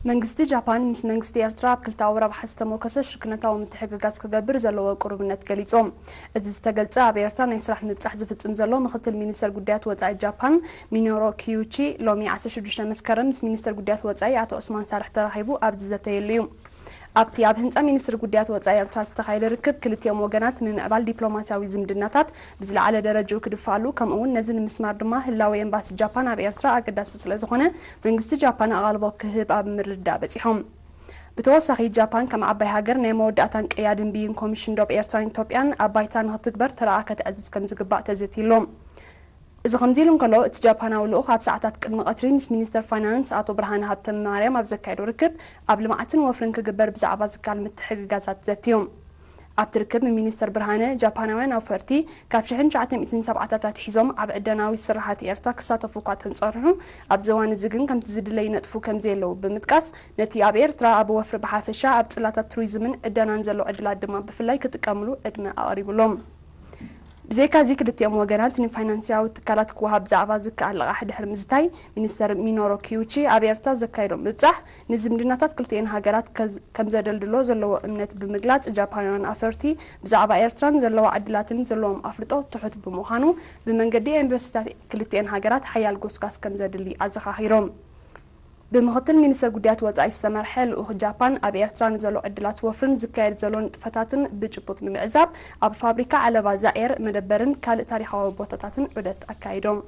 መንግስቲ ጃፓን ምስ መንግስቲ ኤርትራ ኣብ ክልተኣዊ ረብሓ ዝተሞከሰ ሽርክነታዊ ምትሕግጋዝ ክገብር ዘለዎ ቅሩብነት ገሊጹ። እዚ ዝተገልጸ ኣብ ኤርትራ ናይ ስራሕ ምብጻሕ ዝፍጽም ዘሎ ምክትል ሚኒስተር ጉዳያት ወጻኢ ጃፓን ሚኖሮ ኪዩቺ ሎሚ ዓሰርተ ሽዱሽተ መስከረም ምስ ሚኒስተር ጉዳያት ወጻኢ ኣቶ ዑስማን ሳልሕ ተራኺቡ ኣብ ዝዘተየሉ እዩ። ኣብቲ ኣብ ህንጻ ሚኒስትሪ ጉዳያት ወጻኢ ኤርትራ ዝተኻየደ ርክብ ክልቲኦም ወገናት ምምዕባል ዲፕሎማስያዊ ዝምድናታት ብዝለዓለ ደረጃኡ ክድፋሉ ከምኡ እውን ነዚ ንምስማር ድማ ህላወ ኤምባሲ ጃፓን ኣብ ኤርትራ ኣገዳሲ ስለዝኾነ መንግስቲ ጃፓን ኣቓልቦ ክህብ ኣብ ምርድዳእ በጺሖም። ብተወሳኺ ጃፓን ከም ዓባይ ሃገር ናይ መወዳእታን ቀያድን ብይን ኮሚሽን ዶብ ኤርትራን ኢትዮጵያን ኣብ ባይታ ንክትግበር ተራኣ ከተዕዝዝ ከምዝግባእ ተዘትይሎም። እዚ ከምዚ ኢሉ እንከሎ እቲ ጃፓናዊ ልኡኽ ኣብ ሰዓታት ቅድሚ ቀትሪ ምስ ሚኒስተር ፋይናንስ ኣቶ ብርሃነ ሃብተ ማርያም ኣብ ዘካየዶ ርክብ ኣብ ልምዓትን ወፍርን ክግበር ብዛዕባ ዝከኣል ምትሕግጋዛት ዘትዮም። ኣብቲ ርክብ ሚኒስተር ብርሃነ ጃፓናውያን ኣውፈርቲ ካብ ሽሕን ትሽዓተ ሚእትን ሰብዓታት ኣትሒዞም ኣብ ዕደናዊ ስራሓት ኤርትራ ክሳተፉ እኳ ተንጸርሑ ኣብዚ እዋን እዚ ግን ከምቲ ዝድለ ይነጥፉ ከምዘየለዉ ብምጥቃስ ነቲ ኣብ ኤርትራ ኣብ ወፍሪ ብሓፈሻ ኣብ ጽላታት ቱሪዝምን ዕደናን ዘሎ ዕድላት ድማ ብፍላይ ክጥቀምሉ ዕድመ ኣቕሪቡሎም። ብዘይካዚ ክልቲኦም ወገናት ንፋይናንስያዊ ትካላት ክወሃብ ብዛዕባ ዝከኣል ልቓሕ ድሕሪ ምዝታይ ሚኒስተር ሚኖሮ ኪዩቺ ኣብ ኤርትራ ዘካየዶ ምብጻሕ ንዝምድናታት ክልቲኤን ሃገራት ከምዘደልድሎ ዘለዎ እምነት ብምግላጽ ጃፓናውያን ኣፈርቲ ብዛዕባ ኤርትራን ዘለዋ ዕድላትን ዘለዎም ኣፍልጦ ትሑት ብምዃኑ ብመንገዲ ኤምባሲታት ክልቲኤን ሃገራት ሓያል ጎስጓስ ከምዘድሊ ኣዘኻኺሮም። ብምክትል ሚኒስተር ጉዳያት ወጻኢ ዝተመርሐ ልኡኽ ጃፓን ኣብ ኤርትራ ንዘሎ ዕድላት ወፍርን ዝካየድ ዘሎ ንጥፈታትን ብጭቡጥ ንምዕዛብ ኣብ ፋብሪካ ዓለባ ዛኤር መደበርን ካልእ ታሪኻዊ ቦታታትን ዑደት ኣካይዶም።